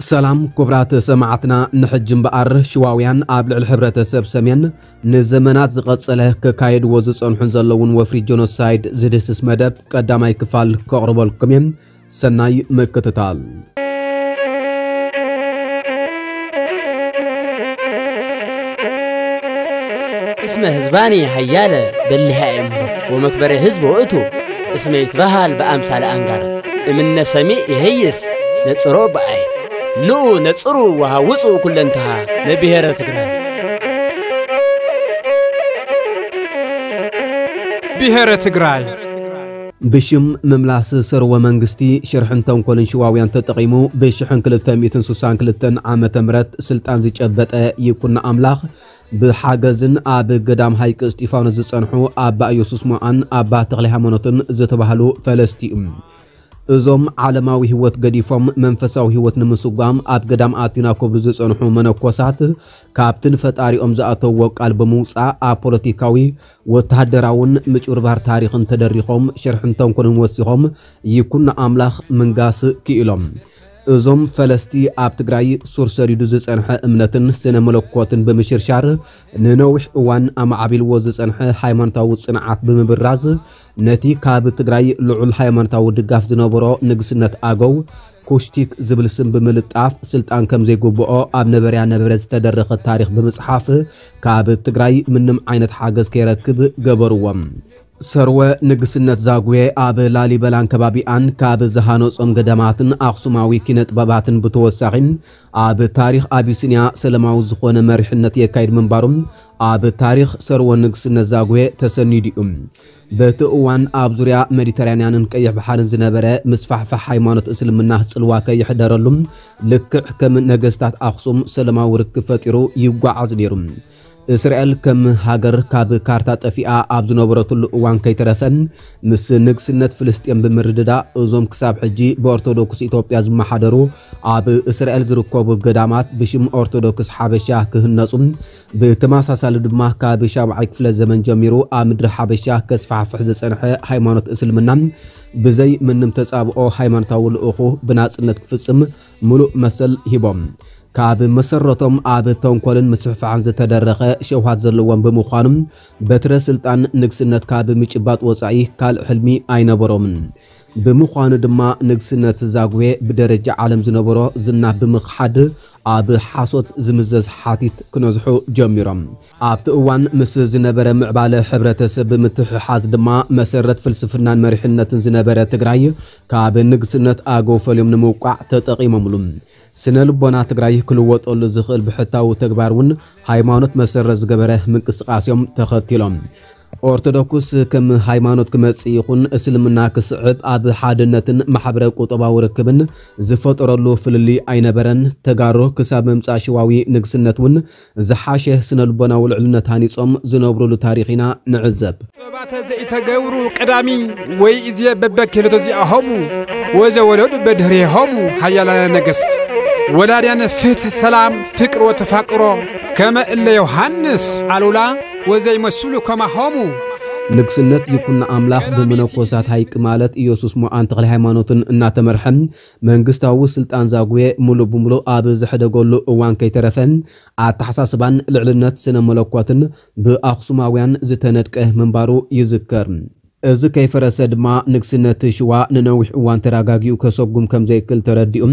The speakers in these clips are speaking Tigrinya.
ሰላም ክቡራት ሰማዕትና፣ ንሕጂ እምበኣር ሽዋውያን ኣብ ልዕሊ ሕብረተሰብ ሰሜን ንዘመናት ዝቐጸለ ከካየድዎ ዝጸንሑን ዘለውን ወፍሪ ጀኖሳይድ ዝድህስስ መደብ ቀዳማይ ክፋል ከቕርበልኩም እየ። ሰናይ ምክትታል። እስመ ህዝባኒ ሀያለ በሊሃ እምሮ ወመክበረ ህዝብ ውእቱ እስመ ይትበሃል በአምሳለ አንጋር እምነ ሰሚዕ ይሄይስ ነጽሮ በአይ ንኡ ነጽሩ ወሃውፁ ኩለንተሃ ለብሔረ ትግራይ። ብሔረ ትግራይ ብሽም ምምላስ ሰርወ መንግስቲ ሽርሕን ተንኮልን ሽዋውያን ተጠቒሙ ብሽሕን ክልተ ሚእትን ስሳን ክልተን ዓመተ ምህረት ስልጣን ዝጨበጠ ይኩኖ ኣምላኽ ብሓገዝን ኣብ ገዳም ሃይቂ እስጢፋኖስ ዝጸንሑ ኣባ ኢየሱስ ሞኣን ኣባ ተኽለ ሃይማኖትን ዝተባህሉ ፈለስቲ እዩ። እዞም ዓለማዊ ህይወት ገዲፎም መንፈሳዊ ህይወት ንምስጓም ኣብ ገዳም ኣቲና ክብሉ ዝጸንሑ መነኮሳት ካብቲ ንፈጣሪኦም ዝኣተውዎ ቃል ብምውጻእ ኣብ ፖለቲካዊ ወተሃደራውን ምጭብርባር ታሪኽን ተደሪኾም ሽርሕን ተንኮልን ወሲኾም ይኩኖ ኣምላኽ ምንጋስ ክኢሎም። እዞም ፈለስቲ ኣብ ትግራይ ሱር ሰዲዱ ዝጸንሐ እምነትን ስነ መለኮትን ብምሽርሻር ንነዊሕ እዋን ኣማዕቢልዎ ዝጸንሐ ሃይማኖታዊ ጽንዓት ብምብራዝ ነቲ ካብ ትግራይ ልዑል ሃይማኖታዊ ድጋፍ ዝነበሮ ንግስነት ኣገው ኩሽቲክ ዝብል ስም ብምልጣፍ ስልጣን ከም ዘይግብኦ ኣብ ነበርያ ነበረ ዝተደረኸ ታሪኽ ብምጽሓፍ ካብ ትግራይ ምንም ዓይነት ሓገዝ ከይረክብ ገበርዎም። ሰርወ ንግስነት ዛጉዌ ኣብ ላሊበላን ከባቢኣን ካብ ዝሃነጾም ገዳማትን ኣኽሱማዊ ኪነ ጥበባትን ብተወሳኺ ኣብ ታሪኽ ኣቢሲንያ ሰለማዊ ዝኾነ መሪሕነት የካይድ ምንባሩ ኣብ ታሪኽ ሰርወ ንግስነት ዛጉዌ ተሰኒዱ እዩ። በቲ እዋን ኣብ ዙርያ ሜዲተራንያንን ቀይሕ ባሕርን ዝነበረ ምስፋሕፋሕ ሃይማኖት እስልምና ጽልዋ ከይሕደረሉ ልክዕ ከም ነገስታት ኣኽሱም ሰለማዊ ርክብ ፈጢሩ ይጓዓዝ ነይሩ። እስራኤል ከም ሃገር ካብ ካርታ ጠፊኣ ኣብ ዝነበረትሉ እዋን ከይተረፈ ምስ ንግስነት ፍልስጤም ብምርድዳእ እዞም ክሳብ ሕጂ ብኦርቶዶክስ ኢትዮጵያ ዝመሓደሩ ኣብ እስራኤል ዝርከቡ ገዳማት ብሽም ኦርቶዶክስ ሓበሻ ክህነጹ ብተመሳሳሊ ድማ ካብ ሻብዓይ ክፍለ ዘመን ጀሚሩ ኣብ ምድሪ ሓበሻ ከስፋሕፍሕ ዝጸንሐ ሃይማኖት እስልምና ብዘይ ምንም ተጻብኦ ሃይማኖታዊ ልኡኹ ብናጽነት ክፍጽም ምሉእ መሰል ሂቦም። ካብ መሰረቶም ኣብ ተንኮልን ምስፍሕፋሕን ዝተደረኸ ሸውሃት ዘለዎም ብምዃኑ በትረ ስልጣን ንግስነት ካብ ምጭባጥ ወጻኢ ካልእ ሕልሚ ኣይነበሮምን። ብምዃኑ ድማ ንግስነት ዛጉዌ ብደረጃ ዓለም ዝነበሮ ዝና ብምኽሓድ ኣብ ሓሶት ዝምዘዝ ሓቲት ክነዝሑ ጀሚሮም። ኣብቲ እዋን ምስ ዝነበረ ምዕባለ ሕብረተሰብ ብምትሕሓዝ ድማ መሰረት ፍልስፍናን መሪሕነትን ዝነበረ ትግራይ ካብ ንግስነት ኣገው ፈልዮም ንምውቃዕ ተጠቒሞምሉ። ስነ ልቦና ትግራይ ክልወጠሉ ዝኽእል ብሕታዊ ተግባር እውን ሃይማኖት መሰረት ዝገበረ ምንቅስቃሴም ተኸቲሎም። ኦርቶዶክስ ከም ሃይማኖት ክመጽእ ይኹን እስልምና ክስዕብ ኣብ ሓድነትን ማሕበረ ቁጠባዊ ርክብን ዝፈጠረሉ ፍልልይ ኣይነበረን። ተጋሩ ክሳብ ምምጻእ ሽዋዊ ንግስነት እውን ዝሓሸ ስነ ልቦናዊ ልዕልነት ሃኒጾም ዝነብሩሉ ታሪኽ ኢና ንዕዘብ። ሰባት ዘይተገብሩ ቀዳሚ ወይ እዜ በበኪሎ ተዚኣሆሙ ወዘወለዱ በድህሬሆሙ ሃያላነ ነገስት ወላድያነ ፍትህ ሰላም ፍቅር ወተፋቅሮ ከመ እለ ዮሃንስ ኣሉላ ወዘይመስሉ ከማሆሙ። ንግስነት ይኩኖ ኣምላኽ ብመነኮሳት ሃይቂ ማለት ኢየሱስ ሞኣን ተኽለ ሃይማኖትን እናተመርሐ መንግስታዊ ስልጣን ዛጉዌ ሙሉእ ብሙሉእ ኣብ ዝሕደገሉ እዋን ከይተረፈ ኣተሓሳስባን ልዕልነት ስነ መለኮትን ብኣኽሱማውያን ዝተነድቀ ምንባሩ ይዝከር። እዚ ከይፈረሰ ድማ ንግስነት ሽዋ ንነዊሕ እዋን ተረጋጊኡ ከሰጉም ከም ዘይክእል ተረዲኡ።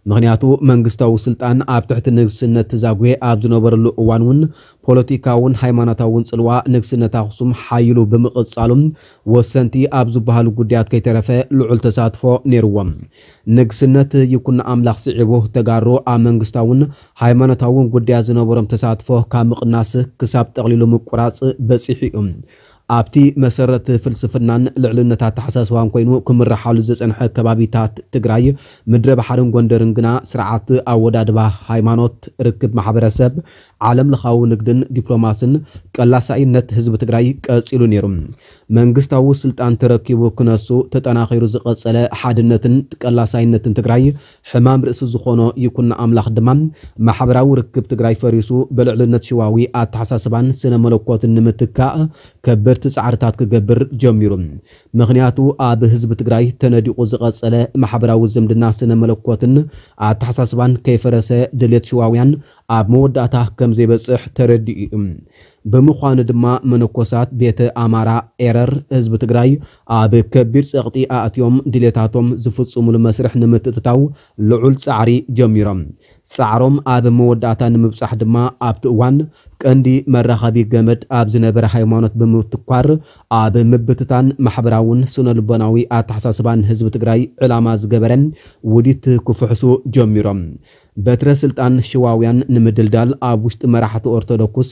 ምኽንያቱ መንግስታዊ ስልጣን ኣብ ትሕቲ ንግስነት ዛጉዌ ኣብ ዝነበረሉ እዋን እውን ፖለቲካውን ሃይማኖታውን ጽልዋ ንግስነት ኣኽሱም ሓይሉ ብምቕጻሉ ወሰንቲ ኣብ ዝበሃሉ ጉዳያት ከይተረፈ ልዑል ተሳትፎ ነይርዎም። ንግስነት ይኩኖ ኣምላኽ ስዒቡ ተጋሩ ኣብ መንግስታውን ሃይማኖታውን ጉዳያት ዝነበሮም ተሳትፎ ካብ ምቕናስ ክሳብ ጠቕሊሉ ምቁራጽ በጺሑ እዩ። ኣብቲ መሰረት ፍልስፍናን ልዕልነት ኣተሓሳስባን ኮይኑ ክምርሓሉ ዝጸንሐ ከባቢታት ትግራይ ምድረ ባሕርን ጎንደርን ግና ስርዓት ኣወዳድባ ሃይማኖት፣ ርክብ ማሕበረሰብ፣ ዓለም ለኻዊ ንግድን ዲፕሎማስን ቀላሳይነት ህዝቢ ትግራይ ቀጺሉ ነይሩ። መንግስታዊ ስልጣን ተረኪቡ ክነሱ ተጠናኺሩ ዝቐጸለ ሓድነትን ቀላሳይነትን ትግራይ ሕማም ርእሲ ዝኾኖ ይኩኖ ኣምላኽ ድማ ማሕበራዊ ርክብ ትግራይ ፈሪሱ ብልዕልነት ሽዋዊ ኣተሓሳስባን ስነ መለኮትን ንምትካእ ከበድ እቲ ጻዕርታት ክገብር ጀሚሩ። ምኽንያቱ ኣብ ህዝቢ ትግራይ ተነዲቑ ዝቐጸለ ማሕበራዊ ዝምድና ስነ መለኮትን ኣተሓሳስባን ከይፈረሰ ድሌት ሽዋውያን ኣብ መወዳእታ ከም ዘይበጽሕ ተረዲኡ እዩ። ብምዃኑ ድማ መነኮሳት ቤተ ኣማራ ኤረር ህዝቢ ትግራይ ኣብ ከቢድ ጸቕጢ ኣእትዮም ድሌታቶም ዝፍጽሙሉ መስርሕ ንምትእትታው ልዑል ጻዕሪ ጀሚሮም። ጻዕሮም ኣብ መወዳእታ ንምብጻሕ ድማ ኣብቲ እዋን ቀንዲ መራኸቢ ገመድ ኣብ ዝነበረ ሃይማኖት ብምትኳር ኣብ ምብትታን ማሕበራውን ስነ ልቦናዊ ኣተሓሳስባን ህዝቢ ትግራይ ዕላማ ዝገበረ ውዲት ክፍሕሱ ጀሚሮም። በትረ ስልጣን ሽዋውያን ንምድልዳል ኣብ ውሽጢ መራሕቲ ኦርቶዶክስ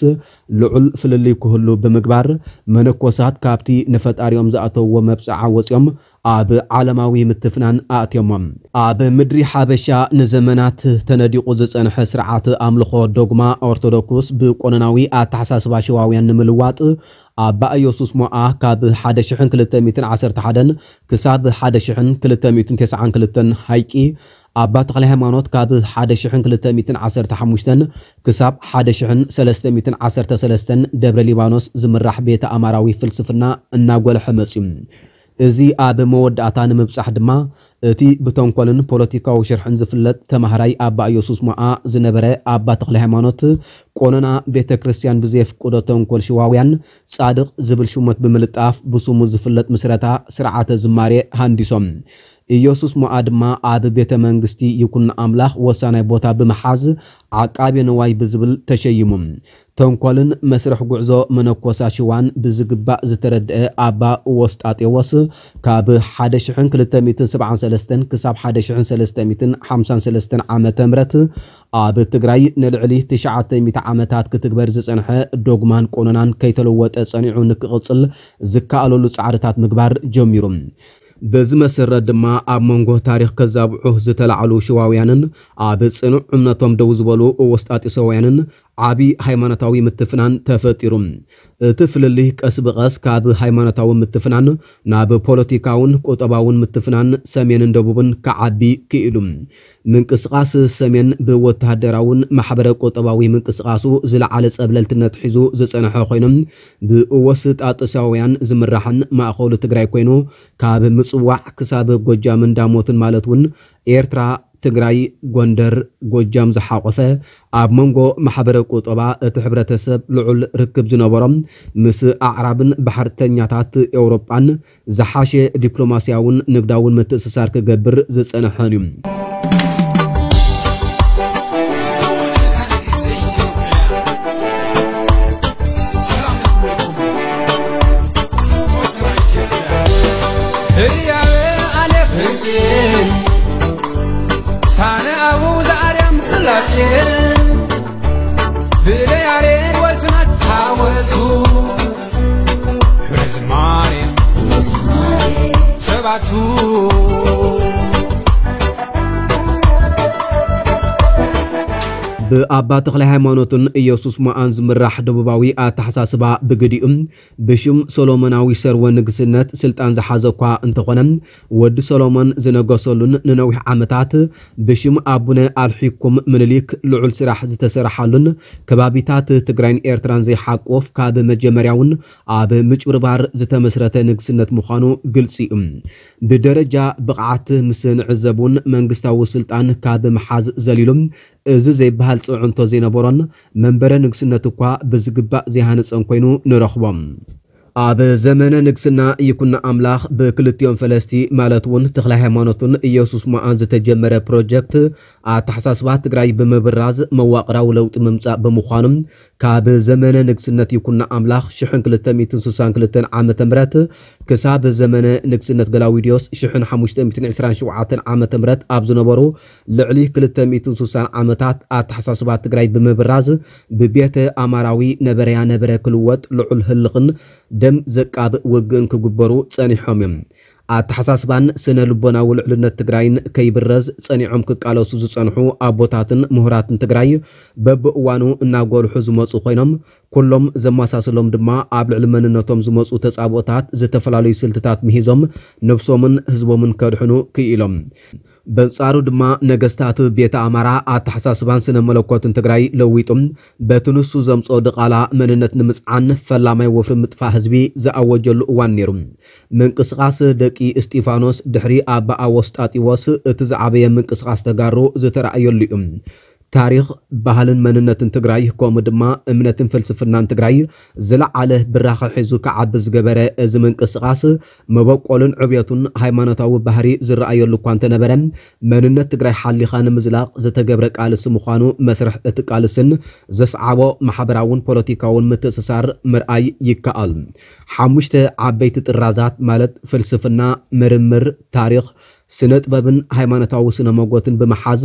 ልዑል ፍልልይ ክህሉ ብምግባር መነኮሳት ካብቲ ንፈጣሪኦም ዝኣተውዎ መብጽዓ ወጺኦም ኣብ ዓለማዊ ምትፍናን ኣእትዮሞም። ኣብ ምድሪ ሓበሻ ንዘመናት ተነዲቑ ዝጸንሐ ስርዓት ኣምልኾ ዶግማ ኦርቶዶክስ ብቆነናዊ ኣተሓሳስባ ሽዋውያን ንምልዋጥ ኣባ ኢየሱስ ሞኣ ካብ ሓደ ሽሕን ክልተ ሚእትን ዓሰርተ ሓደን ክሳብ ሓደ ሽሕን ክልተ ሚእትን ተስዓን ክልተን ሃይቂ ኣባ ተክለ ሃይማኖት ካብ ሓደ ሽሕን ክልተ ሚእትን ዓሰርተ ሓሙሽተን ክሳብ ሓደ ሽሕን ሰለስተ ሚእትን ዓሰርተ ሰለስተን ደብረ ሊባኖስ ዝምራሕ ቤተ ኣማራዊ ፍልስፍና እናጎልሐ መጽዩ። እዚ ኣብ መወዳእታ ንምብጻሕ ድማ እቲ ብተንኮልን ፖለቲካዊ ሽርሕን ዝፍለጥ ተማሃራይ ኣባ ኢየሱስ ሞኣ ዝነበረ ኣባ ተክለ ሃይማኖት ቆነና ቤተ ክርስቲያን ብዘየፍቅዶ ተንኮል ሽዋውያን ጻድቕ ዝብል ሽሞት ብምልጣፍ ብስሙ ዝፍለጥ ምስረታ ስርዓተ ዝማሬ ሃንዲሶም። ኢየሱስ ሞኣ ድማ ኣብ ቤተ መንግስቲ ይኩን ኣምላኽ ወሳናይ ቦታ ብምሓዝ ዓቃቤ ንዋይ ብዝብል ተሸይሙ። ተንኮልን መስርሕ ጉዕዞ መነኮሳ ሽዋን ብዝግባእ ዝተረድአ ኣባ ወስጣጤዎስ ካብ ሓደ ሽሕን ክልተ ሚእትን ሰብዓን ሰለስተን ክሳብ ሓደ ሽሕን ሰለስተ ሚእትን ሓምሳን ሰለስተን ዓመተ ምህረት ኣብ ትግራይ ንልዕሊ ትሽዓተ ሚእቲ ዓመታት ክትግበር ዝጸንሐ ዶግማን ቆነናን ከይተለወጠ ጸኒዑ ንክቕጽል ዝከኣለሉ ጻዕርታት ምግባር ጀሚሩ። በዚ መሰረት ድማ ኣብ መንጎ ታሪኽ ከዛብዑ ዝተላዕሉ ሽዋውያንን ኣብ ጽኑዕ እምነቶም ደው ዝበሉ ወስጣጢሶውያንን ዓቢ ሃይማኖታዊ ምትፍናን ተፈጢሩ። እቲ ፍልልይ ቀስ ብቐስ ካብ ሃይማኖታዊ ምትፍናን ናብ ፖለቲካውን ቁጠባውን ምትፍናን ሰሜንን ደቡብን ክዓቢ ክኢሉ። ምንቅስቓስ ሰሜን ብወተሃደራውን ማሕበረ ቁጠባዊ ምንቅስቓሱ ዝለዓለ ጸብለልትነት ሒዙ ዝጸንሐ ኮይኑ፣ ብወስጣጢሳውያን ዝምራሕን ማእኸሉ ትግራይ ኮይኑ፣ ካብ ምጽዋዕ ክሳብ ጎጃምን ዳሞትን ማለት እውን ኤርትራ፣ ትግራይ፣ ጎንደር፣ ጎጃም ዝሓቖፈ ኣብ መንጎ ማሕበረ ቁጠባ እቲ ሕብረተሰብ ልዑል ርክብ ዝነበሮም ምስ ኣዕራብን ባሕርተኛታት ኤውሮጳን ዝሓሸ ዲፕሎማስያውን ንግዳውን ምትእስሳር ክገብር ዝጸንሐን እዩ። ህያበ ኣለ ፍርጺ ሳነ ኣቡ ዘኣርያም ፍላጼ ብለያሬድ ወስናት ሓወልቱ ክብረ ዝማሬ ሰባቱ። ብኣባ ተኽለ ሃይማኖትን ኢየሱስ ሞኣን ዝምራሕ ደቡባዊ ኣተሓሳስባ ብግዲኡ ብሽም ሶሎሞናዊ ሰርወ ንግስነት ስልጣን ዝሓዘ እኳ እንተኾነ፣ ወዲ ሶሎሞን ዝነገሰሉን ንነዊሕ ዓመታት ብሽም ኣቡነ ኣልሒኩም ምኒልክ ልዑል ስራሕ ዝተሰረሓሉን ከባቢታት ትግራይን ኤርትራን ዘይሓቁፍ ካብ መጀመርያውን ኣብ ምጭብርባር ዝተመስረተ ንግስነት ምዃኑ ግልጺ እዩ። ብደረጃ ብቕዓት ምስ ንዕዘብ እውን መንግስታዊ ስልጣን ካብ ምሓዝ ዘሊሉ እዚ ዘይበሃል ጽዕንቶ ዘይነበሮን መንበረ ንግስነት እኳ ብዝግባእ ዘይሃነጸን ኮይኑ ንረኽቦ። ኣብ ዘመነ ንግስና ይኩኖ ኣምላኽ ብክልቲኦም ፈለስቲ ማለት እውን ተኽለ ሃይማኖትን ኢየሱስ ሞኣን ዝተጀመረ ፕሮጀክት ኣተሓሳስባ ትግራይ ብምብራዝ መዋቕራዊ ለውጢ ምምጻእ ብምዃኑ ካብ ዘመነ ንግስነት ይኩኖ ኣምላኽ ሽሕን ክልተ ሚእትን ስሳን ክልተን ዓመተ ምህረት ክሳብ ዘመነ ንግስነት ገላውዲዮስ ሽሕን ሓሙሽተ ሚእትን ዕስራን ሸውዓተን ዓመተ ምህረት ኣብ ዝነበሩ ልዕሊ ክልተ ሚእትን ስሳን ዓመታት ኣተሓሳስባ ትግራይ ብምብራዝ ብቤተ ኣማራዊ ነበረያ ነበረ ክልወጥ ልዑል ህልኽን ደም ዘቃብእ ውግእን ክግበሩ ጸኒሖም እዮም። ኣተሓሳስባን ስነ ልቦናዊ ልዕልነት ትግራይን ከይብረዝ ጸኒዖም ክቃለሱ ዝጸንሑ ኣቦታትን ምሁራትን ትግራይ በብእዋኑ እናጎልሑ ዝመጹ ኮይኖም፣ ኩሎም ዘመሳስሎም ድማ ኣብ ልዕሊ መንነቶም ዝመጹ ተጻብኦታት ዝተፈላለዩ ስልትታት ምሂዞም ነብሶምን ህዝቦምን ከድሕኑ ክኢሎም። በንጻሩ ድማ ነገስታት ቤተ ኣማራ ኣተሓሳስባን ስነ መለኮትን ትግራይ ለዊጡ በቲ ንሱ ዘምጾ ድቓላ መንነት ንምጽዓን ፈላማይ ወፍሪ ምጥፋእ ህዝቢ ዝኣወጀሉ እዋን ነይሩ። ምንቅስቓስ ደቂ እስጢፋኖስ ድሕሪ ኣባ ኣወስጣጢዎስ እቲ ዝዓበየ ምንቅስቓስ ተጋሩ ዝተራእየሉ እዩ። ታሪኽ፣ ባህልን መንነትን ትግራይ ከምኡ ድማ እምነትን ፍልስፍናን ትግራይ ዝለዓለ ብራኸ ሒዙ ክዓቢ ዝገበረ እዚ ምንቅስቓስ መበቆሉን ዕብየቱን ሃይማኖታዊ ባህሪ ዝረኣየሉ እኳ እንተነበረ መንነት ትግራይ ሓሊኻ ንምዝላቕ ዝተገብረ ቃልሲ ምዃኑ መስርሕ እቲ ቃልስን ዘስዓቦ ማሕበራውን ፖለቲካውን ምትእስሳር ምርኣይ ይከኣል። ሓሙሽተ ዓበይቲ ጥራዛት ማለት ፍልስፍና፣ ምርምር፣ ታሪኽ፣ ስነ ጥበብን ሃይማኖታዊ ስነ መጎትን ብምሓዝ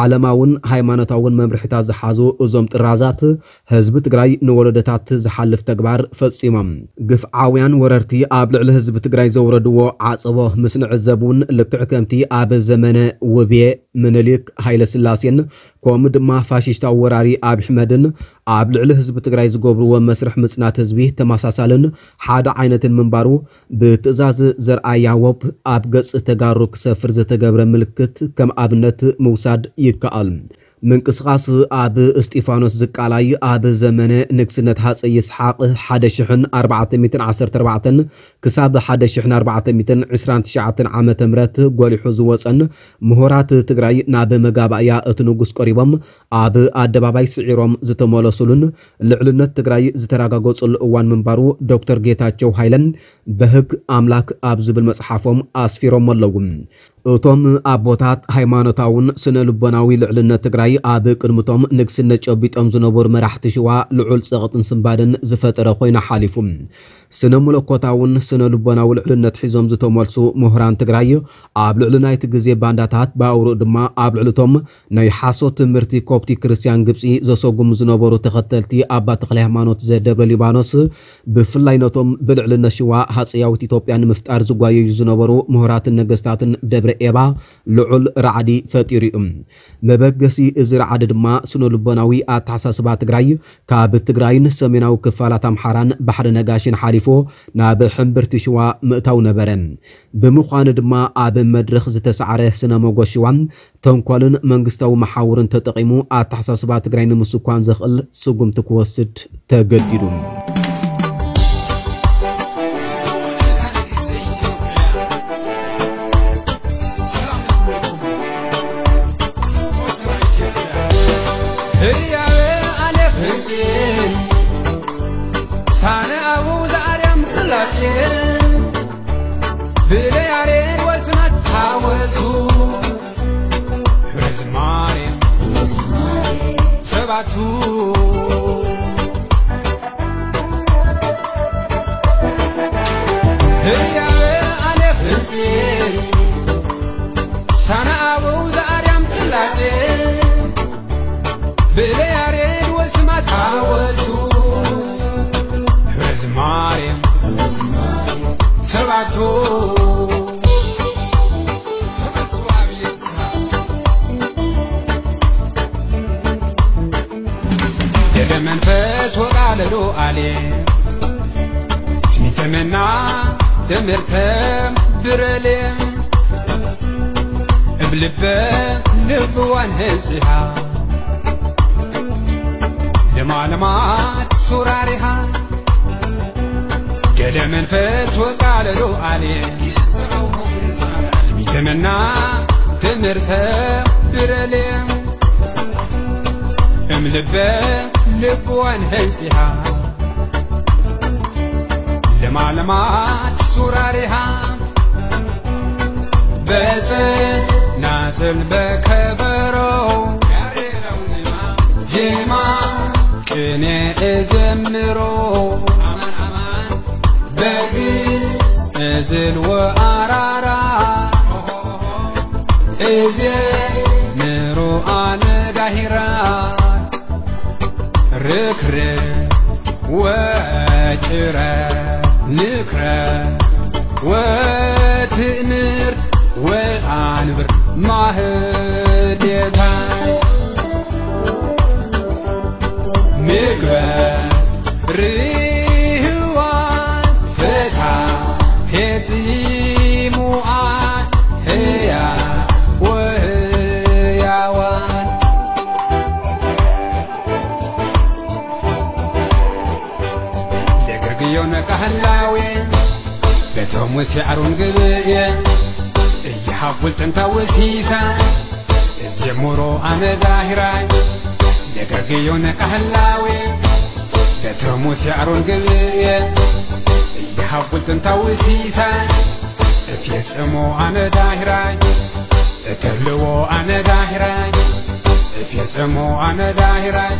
ዓለማውን ሃይማኖታውን መምርሕታት ዝሓዙ እዞም ጥራዛት ህዝቢ ትግራይ ንወለዶታት ዝሓልፍ ተግባር ፈጺሞም። ግፍዓውያን ወረርቲ ኣብ ልዕሊ ህዝቢ ትግራይ ዘውረድዎ ዓጸቦ ምስ ንዕዘብ እውን ልክዕ ከምቲ ኣብ ዘመነ ውቤ፣ ምኒልክ፣ ሃይለ ስላሴን ከምኡ ድማ ፋሽስታዊ ወራሪ ኣብይ ኣሕመድን ኣብ ልዕሊ ህዝቢ ትግራይ ዝገብርዎ መስርሕ ምጽናት ህዝቢ ተመሳሳልን ሓደ ዓይነትን ምንባሩ ብትእዛዝ ዘርኣያ ወብ ኣብ ገጽ ተጋሩ ክሰፍር ዝተገብረ ምልክት ከም ኣብነት ምውሳድ ይከኣል። ምንቅስቓስ ኣብ እስጢፋኖስ ዝቃላይ ኣብ ዘመነ ንግስነት ሃፀይ ይስሓቅ ሓደ ሽሕን ኣርባዕተ ሚእትን ዓሰርተ ኣርባዕተን ክሳብ ሓደ ሽሕን ኣርባዕተ ሚእትን ዕስራን ትሽዓተን ዓመተ ምህረት ጎሊሑ ዝወፀን ምሁራት ትግራይ ናብ መጋባእያ እቲ ንጉስ ቀሪቦም ኣብ ኣደባባይ ስዒሮም ዝተመለሱሉን ልዕልነት ትግራይ ዝተረጋገፀሉ እዋን ምንባሩ ዶክተር ጌታቸው ሃይለን በህግ ኣምላክ ኣብ ዝብል መፅሓፎም ኣስፊሮም ኣለዉ። እቶም ኣቦታት ሃይማኖታውን ስነ ልቦናዊ ልዕልነት ትግራይ ኣብ ቅድምቶም ንግስነት ጨቢጦም ዝነበሩ መራሕቲ ሽዋ ልዑል ፀቕጥን ስንባድን ዝፈጠረ ኮይኑ ሓሊፉ። ስነ መለኮታውን ስነ ልቦናዊ ልዕልነት ሒዞም ዝተመልሱ ምሁራን ትግራይ ኣብ ልዕሊ ናይቲ ግዜ ባንዳታት ብኣውርኡ ድማ ኣብ ልዕልቶም ናይ ሓሶት ትምህርቲ ኮፕቲ ክርስቲያን ግብፂ ዘሰጉሙ ዝነበሩ ተኸተልቲ ኣባ ተክለ ሃይማኖት ዘደብረ ሊባኖስ ብፍላይ ነቶም ብልዕልነት ሽዋ ሃፀያዊት ኢትዮጵያ ንምፍጣር ዝጓየዩ ዝነበሩ ምሁራትን ነገስታትን ደብረ ኤባ ልዑል ራዕዲ ፈጢሩ እዩ። መበገሲ እዚ ራዕዲ ድማ ስነ ልቦናዊ ኣተሓሳስባ ትግራይ ካብ ትግራይን ሰሜናዊ ክፋላት ኣምሓራን ባሕሪ ነጋሽን ሓሊፎ ናብ ሕምብርቲ ሽዋ ምእታው ነበረ። ብምዃኑ ድማ ኣብ መድረኽ ዝተሳዕረ ስነ መጎስ ሽዋ ተንኮልን መንግስታዊ መሓውርን ተጠቒሙ ኣተሓሳስባ ትግራይ ንምስኳን ዘኽእል ስጉምቲ ክወስድ ተገዲዱ። ህያበ ኣነ ፍርሲ ሳነ ኣቡ ዘኣርያም ላሴ ብለያሬድ ወስናት ሓወልቱ ክብረ ዝማሬ ሰባቱ ህያበ ኣነ ፍርሲ ሳነ ኣቡ ዘኣርያም ላሴ ብለ ያሬድ ወስማት ሓወልቱ ክብረ ዝማሬ ሰባቱ ደገ መንፈስ ወቃለሉ ኣሌ ስሚተመና ትምህርተ ብረሌ እብ ልበ ልብዋን ህንጽሃ ለማለማት ሱራሪሃ ገለ መንፈስ ወቃለሉ ኣሌ ሚተመና ትምህርተ ብረሌ እም ልበ ልብዋን ህንጽሃ ለማለማት ሱራሪሃ በጽናጽል በከበሮ ዜማ ቅኔ እዘምሮ በግዕዝ እዝል ወኣራራ እዜምሮ ኣነ ዳሂራ ርክርክ ወጭረ ንክረ ወትእምርት ወኣንብር ማህሌታ ምግበ ርህዋ ፈታ ሄጺሙኣ ህያ ላዌ፣ በቶም ወሲ ኣሮን ግብየ፣ እይሃቡል ጥንታዊ ሲሳ፣ እዜ ሞሮ ኣነ ዳሂራይ፣ ደጋግዮ ነቃህላዌ፣ በቶም ወሲ ኣሮን ግብየ፣ እይሃቡል ጥንታዊ ሲሳ፣ እፌጽሞ ኣነ ዳሂራይ፣ እተልዎ ኣነ ዳሂራይ፣ እፌጽሞ ኣነ ዳሂራይ።